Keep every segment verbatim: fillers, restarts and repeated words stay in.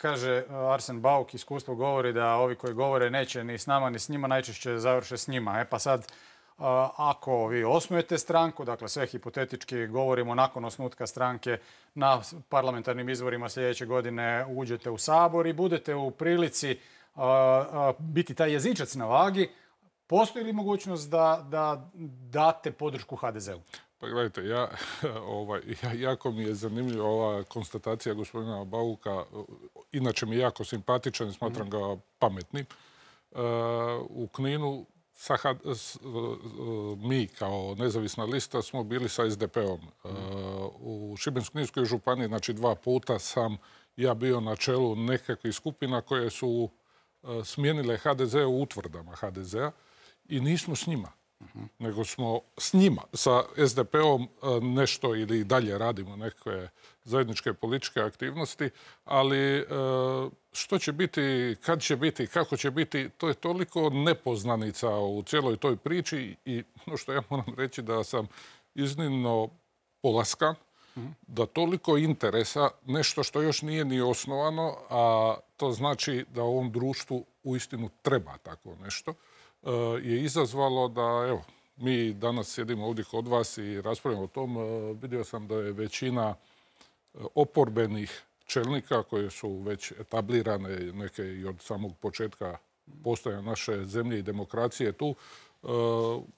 kaže Arsen Bauk, iskustvo govori da ovi koji govore neće ni s nama ni s njima, najčešće završe s njima. E pa sad, ako vi osnujete stranku, dakle sve hipotetički govorimo nakon osnutka stranke, na parlamentarnim izborima sljedeće godine uđete u Sabor i budete u prilici biti taj jezičac na vagi, postoji li mogućnost da, da date podršku ha de zeu? Pa gledajte, ja, ovaj, ja, jako mi je zanimljiva ova konstatacija gospodina Bauka. Inače mi je jako simpatičan i smatram ga pametnim. Uh, u Kninu sa, s, uh, mi kao nezavisna lista smo bili sa es de pe-om. Uh, u Šibensko-kninskoj županiji, znači dva puta sam ja bio na čelu nekakvih skupina koje su uh, smijenile ha de ze u utvrdama ha de zea i nismo s njima. Uh-huh. Nego smo s njima, sa es de pe-om nešto ili dalje radimo neke zajedničke političke aktivnosti, ali što će biti, kad će biti, kako će biti, to je toliko nepoznanica u cijeloj toj priči i ono što ja moram reći da sam iznimno polaskan, uh-huh. da toliko interesa, nešto što još nije ni osnovano, a to znači da u ovom društvu uistinu treba tako nešto, je izazvalo da, evo, mi danas sjedimo ovdje kod vas i raspravljamo o tom. Vidio sam da je većina oporbenih čelnika koje su već etablirane, neke i od samog početka postojanja naše zemlje i demokracije tu,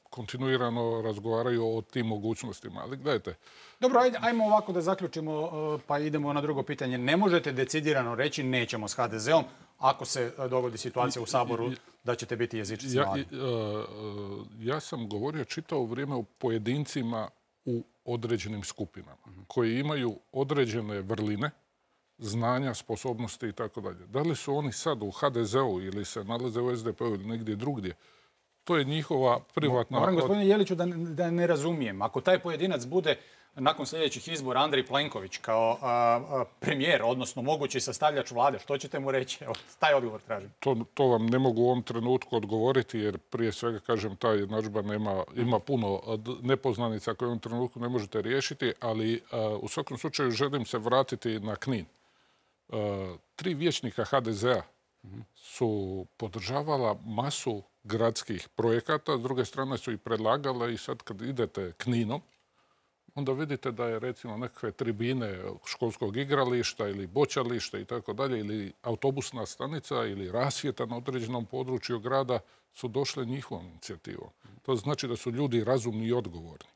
kontinuirano razgovaraju o tim mogućnostima. Ali gledajte. Dobro, ajde, ajmo ovako da zaključimo, pa idemo na drugo pitanje. Ne možete decidirano reći nećemo s ha de zeom ako se dogodi situacija u Saboru da ćete biti jezičci ja, Vlade. Ja sam govorio čitavo vrijeme o pojedincima u određenim skupinama koji imaju određene vrline, znanja, sposobnosti i tako dalje. Da li su oni sad u ha de zeu ili se nalaze u es de pe-u ili negdje drugdje, to je njihova privatna... Moram, gospodine Jeliću, da, da ne razumijem. Ako taj pojedinac bude nakon sljedećih izbora Andrej Plenković kao a, a, premijer, odnosno mogući sastavljač vlade, što ćete mu reći? Evo, taj odgovor tražim. To, to vam ne mogu u ovom trenutku odgovoriti, jer prije svega, kažem, ta jednadžba nema, ima puno nepoznanica koje u ovom trenutku ne možete riješiti, ali a, u svakom slučaju želim se vratiti na Knin. A, tri vijećnika ha de zea su podržavala masu gradskih projekata, s druge strane su i predlagale i sad kad idete Kninom, onda vidite da je recimo nekakve tribine školskog igrališta ili boćališta i tako dalje, ili autobusna stanica ili rasvjeta na određenom području grada su došle njihovom inicijativom. To znači da su ljudi razumni i odgovorni.